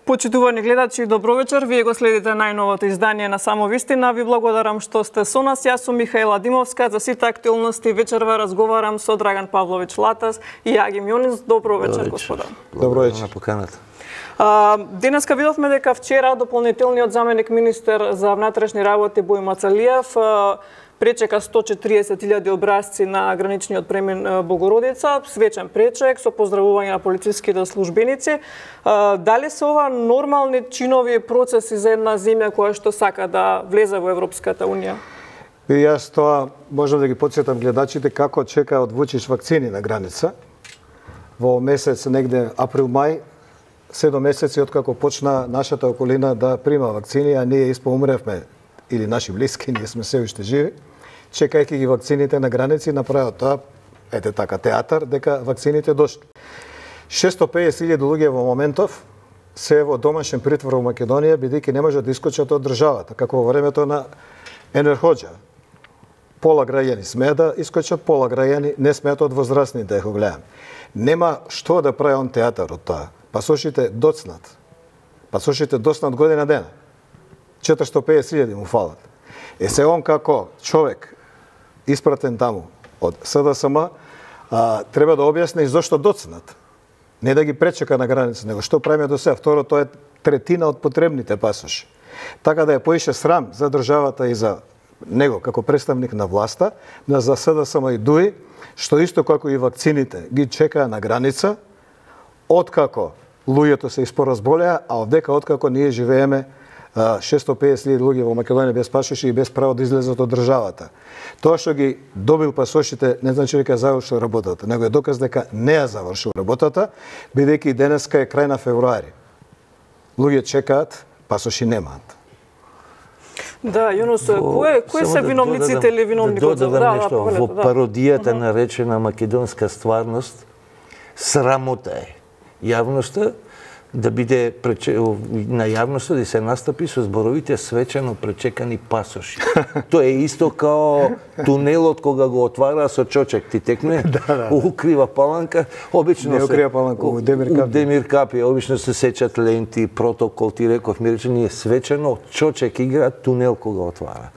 Почитувани гледачи, добро вечер. Вие го следите најновото издание на Само вистина. Ви благодарам што сте со нас. Јас сум Михаела Димовска. За сите актуелности вечерва разговарам со Драган Павлович Латас и Јагим Јонис. Добро вечер, господа. Добро вечер. На поканата. Денеска видовме дека вчера дополнителниот заменик министер за внатрешни работи Бој Мацалиев пречека 140.000 образци на граничниот премин Богородица, свечен пречек со поздравување на полициските службеници. Дали се ова нормални чинови процеси за една земја која што сака да влезе во Европската унија? И јас тоа можам да ги потсетам гледачите како чекаат Вучич вакцини на граница. Во месец негде април-мај, 7 месеци откако почна нашата околина да прима вакцини, а ние испоумревме, или наши блиски, ние сме се уште живи, чекајќи ги вакцините на граници, направо тоа, ете така, театар, дека вакцините дошли. 650.000 луѓе во моментов се во домашен притвор во Македонија, бидејќи не може да искочат од државата, како во времето на Енвер Хоџа. Пола граѓани смеат да искочат, пола граѓани не смеат од возрастни да го гледам. Нема што да прави он театар од тоа. Пасошите доцнат. Пасошите доцнат година дена. 450.000 му фалат. Се он како човек испратен таму од СДСМ треба да објасни зошто доцнат. Не да ги пречека на граница, него што правиме до сега. Второ, тоа е третина од потребните пасоши. Така да е поише срам за државата и за него како представник на власта, за СДСМ и ДУИ, што исто како и вакцините ги чекаа на граница, откако луѓето се испоразболеа, а одека откако ние живееме 650.000 луѓе во Македонија без пасоши и без право да излезат од државата. Тоа што ги добил пасошите не значи дека завршил работата, него е доказ дека не ја завршил работата, бидејќи денеска е крај на февруари. Луѓе чекаат, пасоши немаат. Да, Јонос, кои се виновниците или виновникот? Во пародијата наречена македонска стварност, срамота е јавноста да биде на јавноста да се настапи со зборовите свечено пречекани пасоши. Тоа е исто као тунелот кога го отвара со чочек ти текне, укрива паланка, обично не укрива паланка, у Демир Капи, обично се сечат ленти, протокол, ти реков, ми рече ние свечено чочек игра, тунел кога отвара.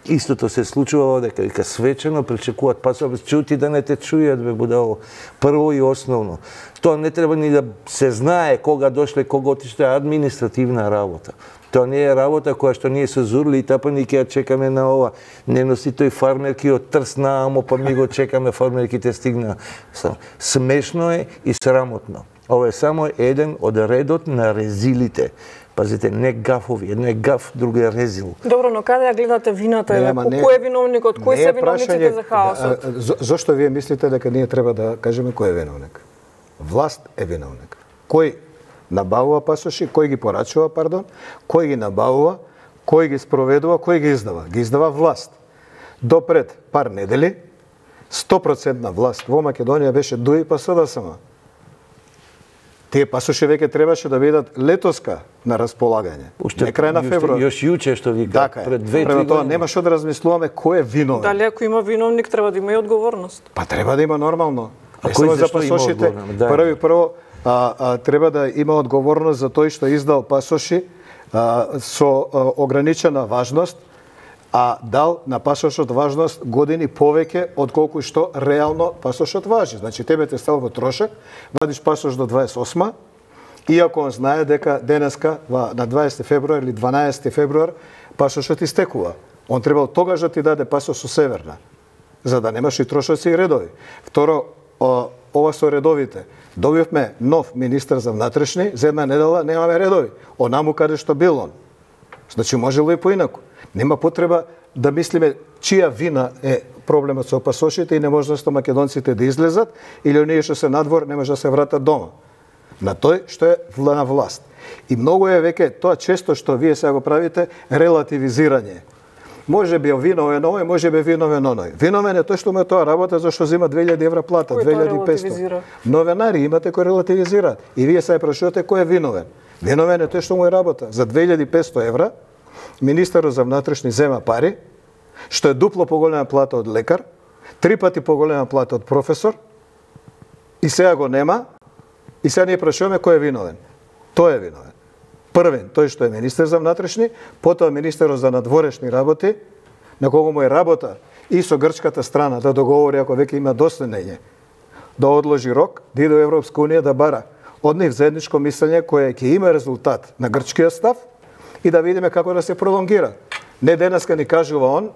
Истото се случува дека свечено пречекуваат пасоши, чути да не те чујат, бе будало. Прво и основно. Тоа не треба ни да се знае кога дошле, кога отишле, административна работа. Тоа не е работа која што ние се зурли и тапани ќе ја чекаме на ова. Не носи тој фармерки од Трсна, амо па ми го чекаме, фармерките стигна. Смешно е и срамотно. Ова е само еден од редот на резилите. Пазите, не гафови, едно е гаф, друго е резил. Добро, но каде ја гледате вината? Кој е виновникот? Кои се виновниците за хаосот? Зошто вие мислите дека ние треба да кажеме кој е виновник? Власт е виновник. Кој набавува пасоши, кој ги порачува, кој ги набавува, кој ги спроведува, кој ги издава? Ги издава власт. Допред пар недели, 100% власт во Македонија беше ДУИ па СДСМ. Тие пасоши веќе требаше да бидат летоска на располагање. Не крај на февруар. Још јуче што ви кажа, пред 2-3 години. Тоа нема што да размислуваме кој е виновен. Дали ако има виновник треба да има и одговорност? Па треба да има нормално. А кој за пасошите? Прво треба да има одговорност за тој што издал пасоши со ограничена важност, а дал на пасошот важност години повеќе од колку што реално пасошот важи. Значи тебе те става во трошак, вадиш пасош до 28, иако он знае дека денеска на 20 февруар или 12 февруар пасошот истекува. Он требал тогаш да ти даде пасош со северна, за да немаш и трошоци и редови. Второ, ова со редовите. Добивме нов министер за внатрешни, за една недела немаме редови. Онаму каде што бил он. Значи можело и поинаку. Нема потреба да мислиме чија вина е проблемот со пасошите и неможноста македонците да излезат или оние што се надвор не може да се вратат дома. На тој што е на власт. И многу е веќе тоа често што вие сега го правите релативизирање. Може би виновен овој, може би виновен оној. Виновен е тој што му е тоа работа зашто зема 2000 евра плата, 2500. Новинари имате кои релативизираат. И вие сега прашувате кој е виновен. Виновен е тој што му е работа. За 2500 евра министерот за внатрешни зема пари, што е дупло поголема плата од лекар, 3 пати поголема плата од професор, и сега го нема, и сега ние прашуваме кој е виновен. Тој е виновен. Првен, тој што е министер за внатрешни, потоа министерот за надворешни работи, на кого му е работа и со грчката страна да договори ако веќе има доследење, да одложи рок, да иде во Европска унија да бара од нив заедничко мислење кое ќе има резултат на грчкиот став и да видиме како да се пролонгира. Не денеска ни кажува он,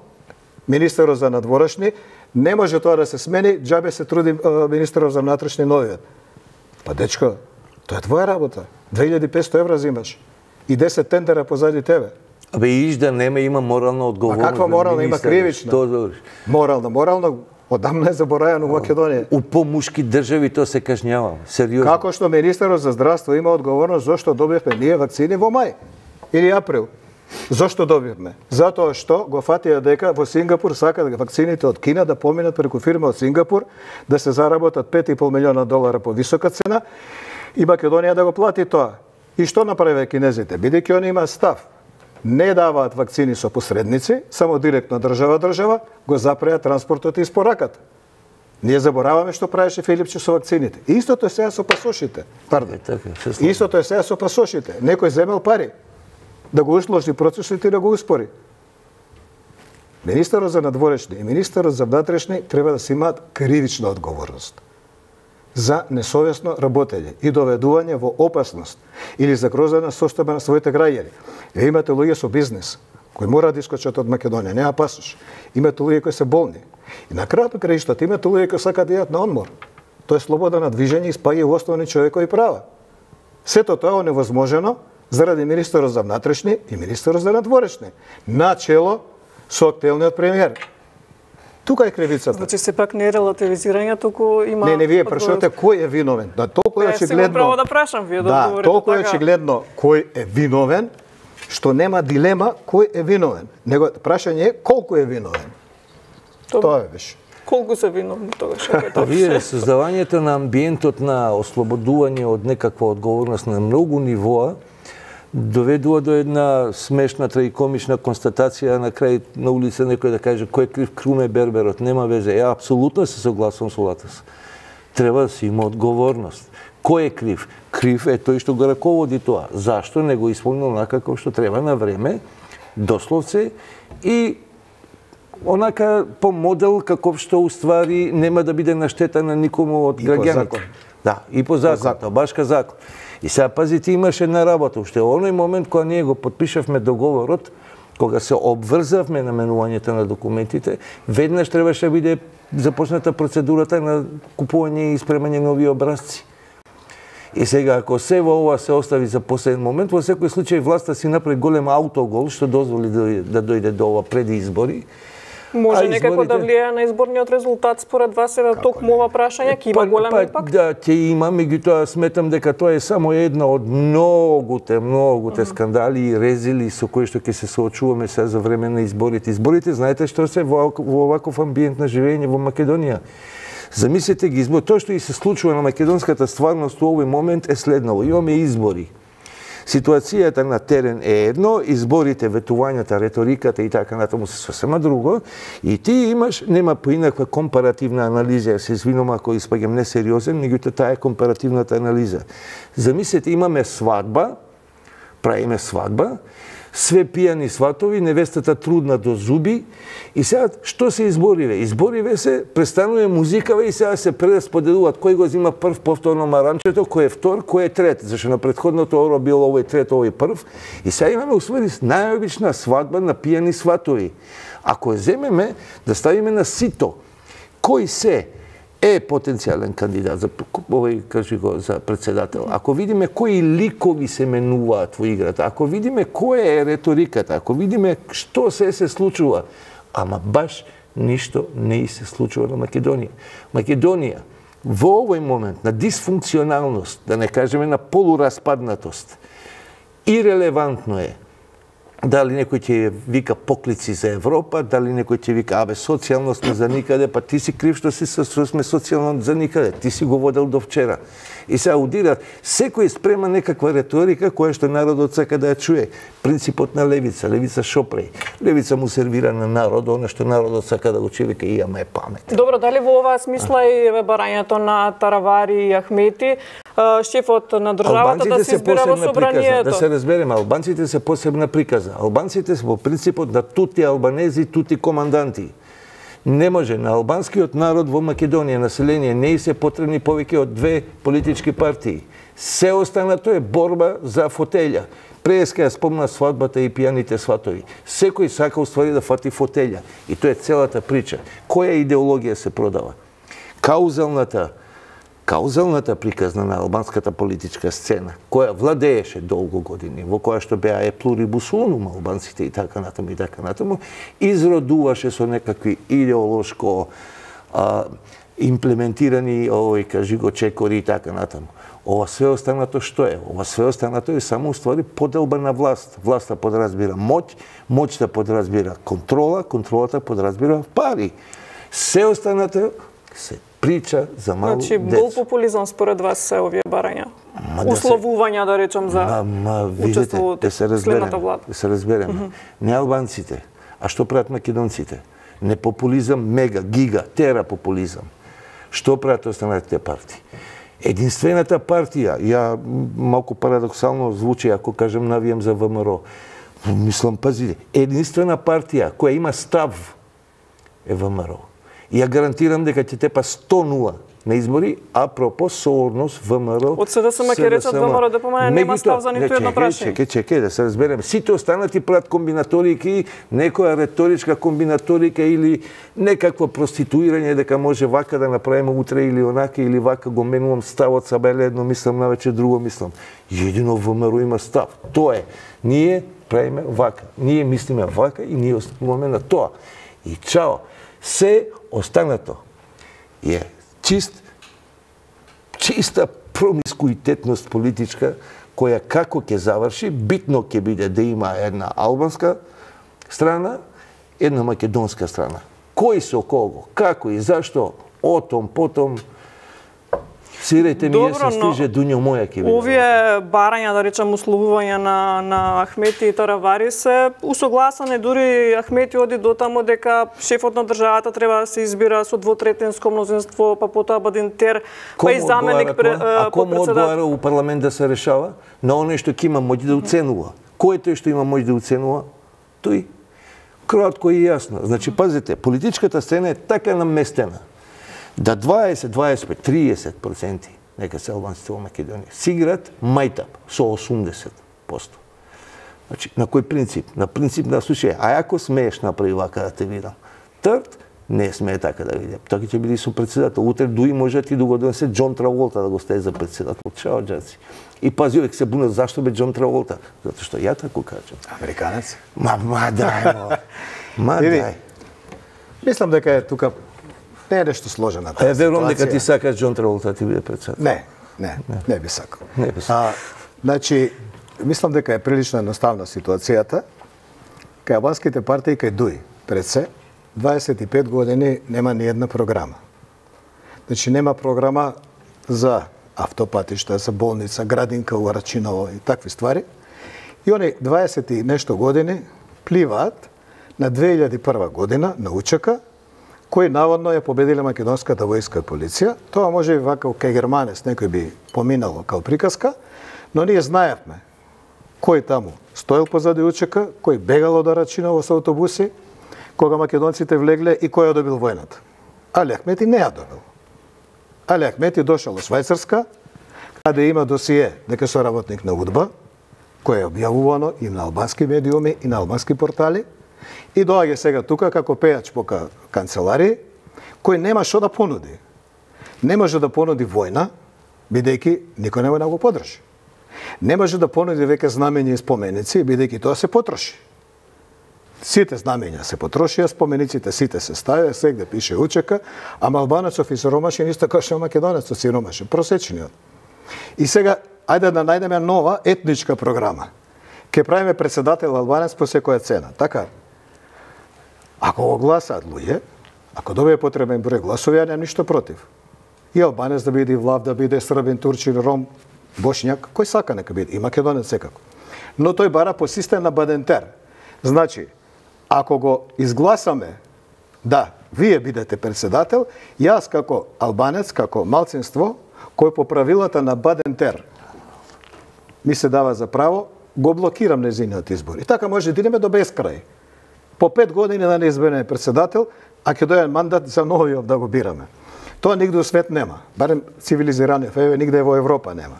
министерот за надворешни, не може тоа да се смени, џабе се труди министерот за внатрешни новиот. Па дечко, тоа е твоја работа. 2500 евра зимаш и 10 тендера позади тебе. Абе, иш да нема, има морална одговорност. А каква морална, има кривична? Морална, одамна е заборајано во Македонија. У помушки држави тоа се кажњава, сериозно. Како што министерот за здравство има одговорност зошто добивме ние вакцини во мај или април. Зошто добивме? Затоа што го фатија дека во Сингапур сакаат вакцините од Кина да поминат преку фирма од Сингапур, да се заработат $5,5 милиона по висока цена и Македонија да го плати тоа. И што направи кинезите? Бидејќи они имаат став, не даваат вакцини со посредници, само директно држава, го запреа транспортот и испораката. Ние забораваме што правеше Филипче со вакцините. Истото е сега со пасошите. Истото е сега со пасошите. Некој земел пари да го усложни процесот и да го успори. Министерот за надворешни и министерот за внатрешни треба да се имаат кривична одговорност за несовесно работење и доведување во опасност или загрозена состојба на своите граѓани. Имате луѓе со бизнес кои мора да искочат од Македонија, нема пасош. Имате луѓе кои се болни. И на крајот на краиштата имате луѓе кои сакаат да идат на одмор. Тоа е слобода на движење и спаѓа во основни човекови права. Сето тоа е невозможено заради министерот за внатрешни и министерот за надворешни, начело со актуелниот премиер. Тука е кривицата. Значи сепак не е релативизирање, туку има... Не, вие прашувате кој е виновен. Да, толку е очигледно. Право да прашам, вие да одговорите. Да, толку е очигледно кој е виновен, што нема дилема кој е виновен. Него прашање е колку е виновен. Тоа е беше. Колку се виновни тогаш? Вие создавањето на амбиентот на ослободување од некаква одговорност на многу нивоа доведува до една смешна трагикомична констатација на крај на улица некој да каже кој е крив, Круме Берберот, нема везе. Ја апсолутно се согласувам со Латас. Треба да се има одговорност. Кој е крив? Крив е тој што го раководи тоа. Зашто не го исполнил онака како што треба на време, дословце и онака по модел каков што уствари нема да биде на штета на никому од граѓаните. Да, и по закон, башка закон. И сега пазите, имаше една работа. Уште оној момент кога ние го подпишавме договорот, кога се обврзавме на менувањето на документите, веднаш требаше да биде започната процедурата на купување и испремање нови образци. И сега, ако се во ова се остави за последен момент, во секој случај власта си направи голем аутогол, што дозволи да дојде до ова пред избори. Може некако да влијае на изборниот резултат според вас е токму ова прашање, ќе има голем импакт? Да, ќе има, меѓутоа сметам дека тоа е само една од многуте скандали и резили со кои што ќе се соочуваме сега за време на изборите. Изборите, знаете што се во оваков амбиент на живење во Македонија. Замислете ги избори. Тоа што и се случува на македонската стварност во овој момент е следново. Имаме избори. Ситуацијата на терен е едно, изборите, ветувањата, реториката и така натаму се сосема друго. И ти имаш, нема поинаква компаративна анализа, се извинувам ако испаѓам несериозен, меѓутоа таа е компаративната анализа. Замислете, имаме свадба, правиме свадба, све пијани сватови, невестата трудна до зуби и сега што се избориве? Избориве се, престанува музикава и сега се прерасподелуваат кој го зима прв повторно маранчето, кој е втор, кој е трет, зашто на претходното оро било овој трет, овој прв и сега имаме усвои најобична свадба на пијани сватови. Ако земеме да ставиме на сито кој се е потенцијален кандидат за овој, кажи го, за председател. Ако видиме кои ликови се менуваат во играта, ако видиме која е реториката, ако видиме што се случува, ама баш ништо не се случува на Македонија. Македонија во овој момент на дисфункционалност, да не кажеме на полураспаднатост, ирелевантно е Дали некој ќе вика поклици за Европа, дали некој ќе вика социјално сме за никаде, па ти си крив што сме социјално за никаде, ти си го водел до вчера. И се аудира, секој спрема некаква реторика која што народот сака да ја чуе. Принципот на левица, левица шопреј. Левица му сервира на народот, она што народот сака да го чуе, вика имаме памет. Добро, дали во оваа смисла и барањето на Таравари и Ахмети, шефот на државата да се избира во собранието? Да се разбереме, албанците се посебна приказа. Албанците се во принципот да тути албанези, тути команданти. Не може на албанскиот народ во Македонија население не се потребни повеќе од 2 политички партии. Се останато е борба за фотелја. Преска ја спомна свадбата и пијаните сватови. Секој сака уствари да фати фотелја. И тоа е целата прича. Која идеологија се продава? Каузалната приказна на албанската политичка сцена, која владееше долго години, во која што беа е плурибус унум албанците и така натаму, изродуваше со некакви идеолошко имплементирани кажи го чекори и така натаму. Ова све останато што е? Ова све останато е само уствари поделба на власт. Власта подразбира моќ, моќта подразбира контрола, контролата подразбира пари. Се останато се прича за мало деца. Значи, гол популизам според вас се овие барања? Условувања, да речем, за учеството следната влада? Да се разбереме. Не албанците, а што прават македонците? Не популизам, мега, гига, тера популизам. Што прават останатите партии? Единствената партија, ја малку парадоксално звучи ако кажем навијам за ВМРО. Мислам, пазите, единствена партија која има став е ВМРО. Ја гарантирам дека ќе тепа 100-0 на избори, апропо сооднос ВМРО. Од СДСМ ќе речат ВМРО да помане нема став за ниту едно прашање. Чекај да се разбереме. Сите останати прават комбинаторики, некоја реторичка комбинаторика или некакво проституирање дека може вака да направиме утре или онака или вака го менувам ставот сабеле едно мислам навече друго мислам. Едино ВМРО има став. Тоа е. Ние правиме вака. Ние мислиме вака и ние остануваме на тоа. И чао. Се останато е чиста промискуитетност политичка, која како ќе заврши, битно ќе биде да има една албанска страна, една македонска страна. Кој со кого, како и зашто, отом, потом, свирејте ми, се стиже дуњо моја ќе биде. Овие барања, да речем, условувања на Ахмети и Таравари се усогласани, дури Ахмети оди до тамо дека шефот на државата треба да се избира со двотретинско мнозинство, па потоа Бадинтер, па и заменик А кому одговара у парламент да се решава? На оној што ќе има моќ да оценува. Кој е тој што има моќ да оценува? Тој. Кратко и јасно. Значи, пазите, политичката сцена е така наместена да 20, 25, 30% нека се албанците во Македонија си играат мајтап со 80%. Значи, на кој принцип? На принцип да слушај, а ако смееш направи вака да те видам. Трт, не смее така да видам. Така ќе биде со председател. Утре дуи може ти да го донесе Џон Траволта да го стави за председател. Чао, џаци. И пази, овек се бунат, зашто бе Џон Траволта? Затоа што ја тако кажам. Американец? Ма дај, дај. Мислам дека е тука не е нешто сложена таа ситуација. Верувам дека ти сакаш Џон Траволта ти биде председател. Не би сакал. Значи, мислам дека е прилично едноставна ситуацијата. Кај албанските партии кај ДУИ пред се 25 години нема ни една програма. Значи нема програма за автопатишта, за болница, градинка у Рачиново и такви ствари. И они 20 и нешто години пливаат на 2001 година на УЧК, кој наводно ја победила македонската војска и полиција. Тоа може и вака кај Германец некој би поминало као приказка, но ние знаевме кој таму стоел позади УЧК, кој бегало до Рачиново со автобуси, кога македонците влегле и кој ја добил војната. Али Ахмети не ја добил. Али Ахмети дошол во Швајцарска, каде има досие дека со работник на УДБА, кој е објавувано и на албански медиуми и на албански портали, и доаѓа сега тука како пејач по канцеларии, кој нема што да понуди. Не може да понуди војна, бидејќи никој нема да го подржи. Не може да понуди веќе знамења и споменици, бидејќи тоа се потроши. Сите знамења се потрошија, спомениците сите се ставија, сегде пише УЧК, ама албанецов и сиромашен исто како што македонецов сиромашен, просечениот. И сега, ајде да најдеме нова етничка програма. Ке правиме председател албанец по секоја цена, така? Ако го гласаат луѓе, ако добие потребен број гласови, ја немам ништо против. И албанец да биде, и влав да биде, србин, турчин, ром, бошњак, кој сака нека биде, и македонец секако. Но тој бара по систем на Бадентер. Значи, ако го изгласаме, да, вие бидете председател, јас како албанец, како малцинство, кој по правилата на Бадентер ми се дава за право, го блокирам незиниот избор. И така може да идеме до безкрај. По 5 години да не избереме председател, а ќе дојде мандат за новиот да го бираме. Тоа нигде у свет нема, барем цивилизирано, нигде во Европа нема.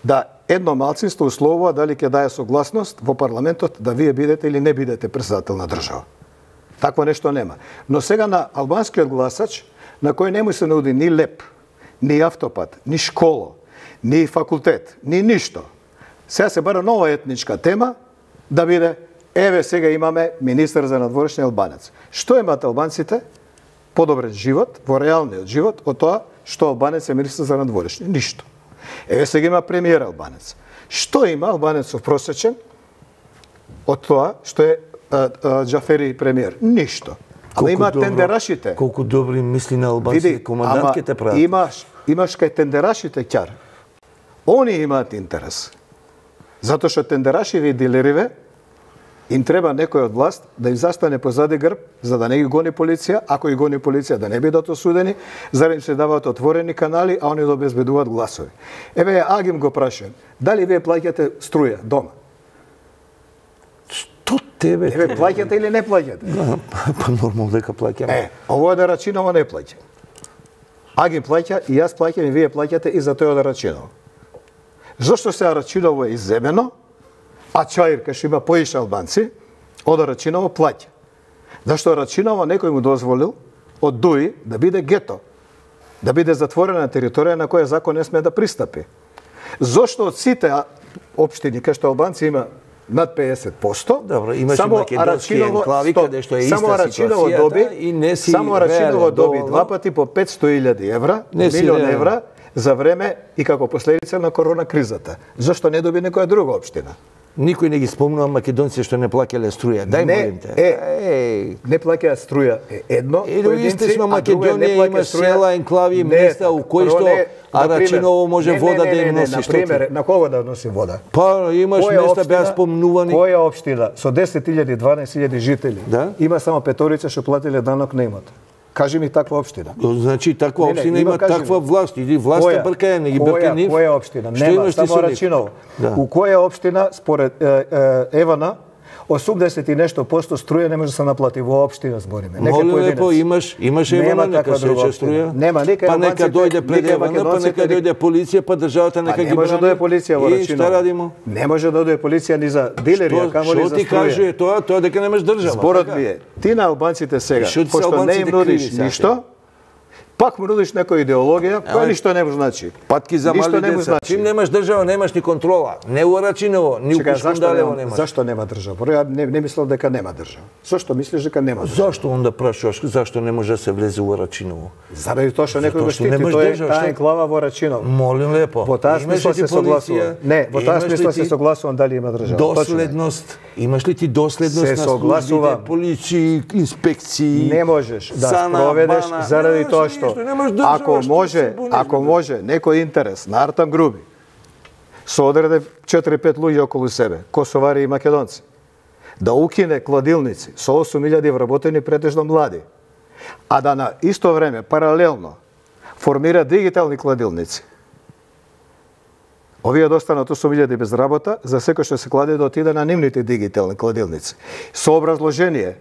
Да едно малцинство условува дали ќе даде согласност во парламентот да вие бидете или не бидете председател на држава. Такво нешто нема. Но сега на албанскиот гласач, на кој не му се нуди ни леп, ни автопат, ни школа, ни факултет, ни ништо. Сега се бара нова етничка тема да биде, еве сега имаме министер за надворешни албанец. Што имаат албанците? Подобрен живот, во реалниот живот, од тоа што албанец е министер за надворешни. Ништо. Еве сега има премиер албанец. Што има албанецов просечен од тоа што е Џафери премиер? Ништо. Ама има тендерашите. Колку добри мисли на албанците командантките прават. Имаш кај тендерашите ќар. Они имаат интерес. Затоа што тендерашиве и дилериве им треба некој од власт да им застане позади грб, за да не ги гони полиција, ако ги гони полиција да не бидат осудени, за да им се даваат отворени канали, а они да обезбедуваат гласови. Еве, Агим го прашам, дали вие плаќате струја дома? Што тебе? Еве, плаќате или не плаќате? Па нормално дека плаќаме. Ово е да Рачиново не плаќа. Агим плаќа и јас плаќам и вие плаќате и за тој од Рачиново. Зошто се Рачиново е изземено, а Чаир, кај што има поише албанци, од Рачиново плаќа? Зашто Рачиново некој му дозволил од Дуи да биде гето, да биде затворена територија на која закон не сме да пристапи. Зошто од сите општини кај што албанци има над 50%, добро, имаше македонски енклави каде што е иста ситуацијата и не си само Арачиново доби 2 пати по 500.000 евра, милион евра за време и како последица на корона кризата. Зошто не доби некоја друга општина? Никој не ги спомнува македонци што не плаќале струја. Дај молим те. Не плаќаат струја е едно. И во источна Македонија има села, енклави, места у кои што Арачиново може вода да им носи. Например, на кого да носи вода? Па имаш места беа спомнувани. Која општина со 10.000, 12.000 жители има само петорица што платиле данок на имот? Кажи ми таква општина. Значи таква општина има таква власт, или власта бркаја, не ги брка нив. Која општина? Нема, само Рачиново. У која општина според Евана 80 и нешто посто струја не може да се наплати во општина збориме. Молим лепо, имаш Евана, нека се рече струја. Нема, па нека дојде пред Евана, па нека дојде полиција, па државата нека ги брани. Не може да дојде полиција во Рачиново. И шта радимо? Не може да дојде полиција ни за дилери, а камо ли за струја. Што ти каже тоа дека немаш држава? Зборот ми е, ти на албанците сега, пошто не им нудиш ништо, пак му нудиш некоја идеологија, која ништо не му значи. Патки за мали деца. Чим немаш држава, немаш ни контрола. Не у Рачиново, ни у Кушкундалево немаш. Зашто нема држава? Ја не мислам дека нема држава. Зошто мислиш дека нема држава? Зашто онда прашуваш зашто не може да се влезе у Рачиново? Заради тоа што некој го штити, тоа е таа енклава во Рачиново. Молим лепо. Во таа смисла се согласувам. Не, во таа смисла се согласувам дали има држава. Доследност. Имаш ли ти доследност на службите, полиција, инспекции? Не можеш да спроведеш заради тоа што ако може некој интерес на Артам Груби со одреде 4-5 луѓе околу себе, косовари и македонци, да укине кладилници со 8.000 вработени претежно млади, а да на исто време паралелно формира дигитални кладилници. Овие достанат 8.000 без работа, за секој што се кладе да отиде на нивните дигитални кладилници. Со образложение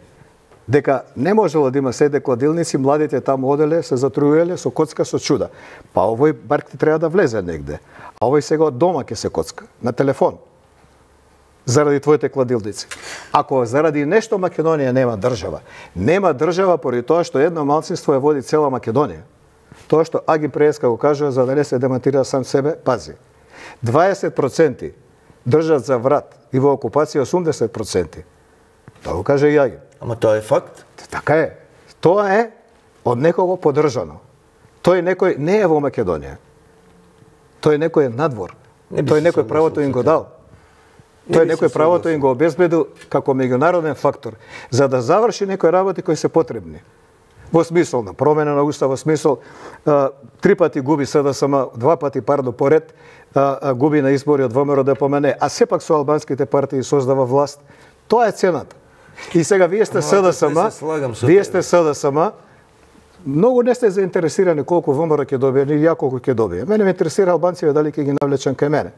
дека не можело да има седе кладилници, младите таму оделе, се затруеле со коцка со чуда. Па овој барк ти треба да влезе негде. А овој сега од дома ќе се коцка, на телефон. Заради твоите кладилници. Ако заради нешто Македонија нема држава поради тоа што едно малцинство ја води цела Македонија. Тоа што Аги Преска го кажува за да не се демонтира сам себе, пази. 20% држат за врат и во окупација 80%. Тоа го каже и Аги. Ама тоа е факт. Така е. Тоа е од некого поддржано. Тој некој не е во Македонија. Тој некој е надвор. Тој некој правото им го дал. Тој некој правото им го обезбедил како меѓународен фактор, за да заврши некои работи кои се потребни. Во смисол на промена на устав, во смисол 3 пати губи СДСМ, 2 пати поред, губи на избори од ВМРО ДПМН, а сепак со албанските партии создава власт. Тоа е цената. И сега вие сте СДСМ, многу не сте заинтересирани колку ВМРО ќе добие, или ја колку ќе добие. Мене ме интересира албанците дали ќе ги навлечам кај мене.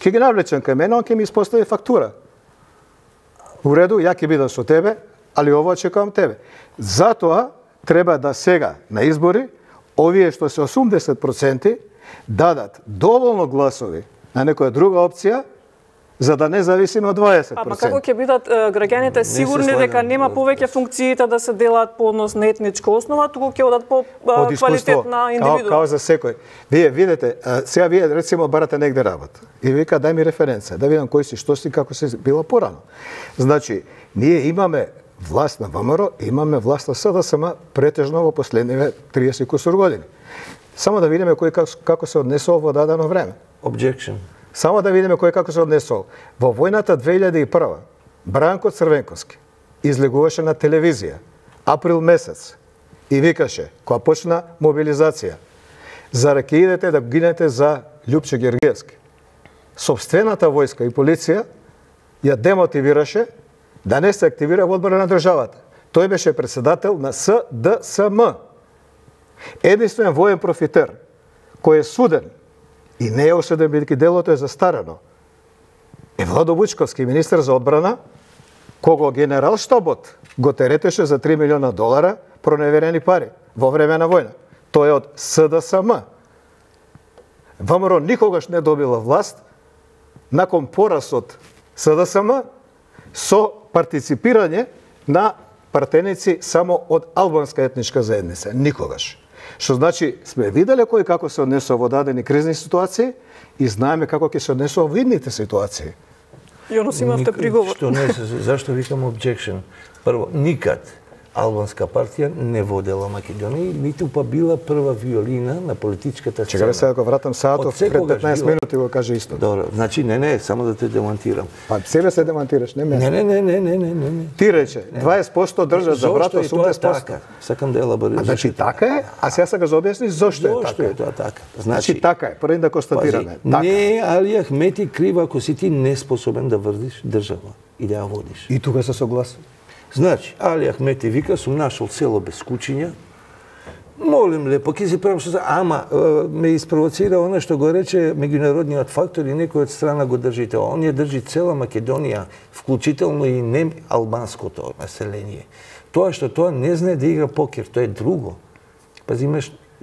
Ќе ги навлечам кај мене, он ќе ми испостави фактура. У реду, ја ќе бидам со тебе, али ово чекам тебе. Затоа треба да сега на избори овие што се 80% дадат доволно гласови на некоја друга опција, за да не зависиме од 20%. Ама како ќе бидат граѓаните сигурни дека нема повеќе функциите да се делат по однос на етничка основа, туку ќе одат по квалитетна индивидуа? Као за секој. Вие видите, сега вие рецимо барате негде работа и вика дај ми референца, да видам кој си, што си, како си била порано. Значи, ние имаме власт на ВМРО, имаме власт на СДСМ претежно во последниве 30 кусур години. Само да видиме кој како се однесува во дадено време. Objection. Само да видиме кој како се однесува. Во војната 2001 Бранко Црвенковски излегуваше на телевизија април месец и викаше, кога почна мобилизација, за ќе идете да гинете за Љупче Гергиевски. Собствената војска и полиција ја демотивираше да не се активира во одбрана на државата. Тој беше председател на СДСМ. Единствен воен профитер кој е суден и не е осуден бидејќи делото е застарено е Владо Вучковски, министер за одбрана, кого генерал штабот го теретеше за $3 милиона проневерени пари во време на војна. Тој е од СДСМ. ВМРО никогаш не добила власт након пораз од СДСМ со партиципирање на партеници само од албанска етничка заедница. Никогаш. Што значи, сме виделе кој како се однесува во дадени кризни ситуации и знаеме како ќе се однесува во идните ситуации. Јонос, имавте приговор. Што не се, зашто викам objection? Прво, никад албанска партија не водела Македонија, ниту па била прва виолина на политичката сцена. Чекај сега го вратам Саатов, пред 15 минути го каже исто. Добро, значи не, само да те демонтирам. Па себе се демонтираш, не мене. Не. Ти рече, 20% држат за брат, 80%. Така? Сакам да елаборирам. Значи така е, а сега се го објасни зошто е така. Зошто е тоа така? Значи така е, први да констатираме. Не, Али Ахмети крива ако си ти неспособен да врдиш држава и да ја водиш. И тука се согласен. Значи, Али Ахмети вика, сум нашол село без кучиња, молим лепо, ќе си правам што ама ме испровоцира она што го рече меѓународниот фактор и некој од страна го држите. Он ја држи цела Македонија, вклучително и не албанското население. Тоа што тоа не знае да игра покер, тоа е друго. Пази,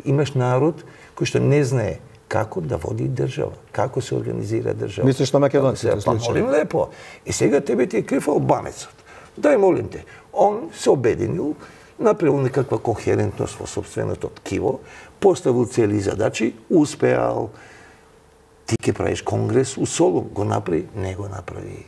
имаш народ кој што не знае како да води држава, како се организира држава. Мислиш на македонците случај? Па молим лепо. И сега тебе ти е крив албанецот. Дај, молим те, он се обединил, направил некаква кохерентност во собственото ткиво, поставил цели задачи, успеал. Ти ќе правиш конгрес у Солун, го направи? Не го направи.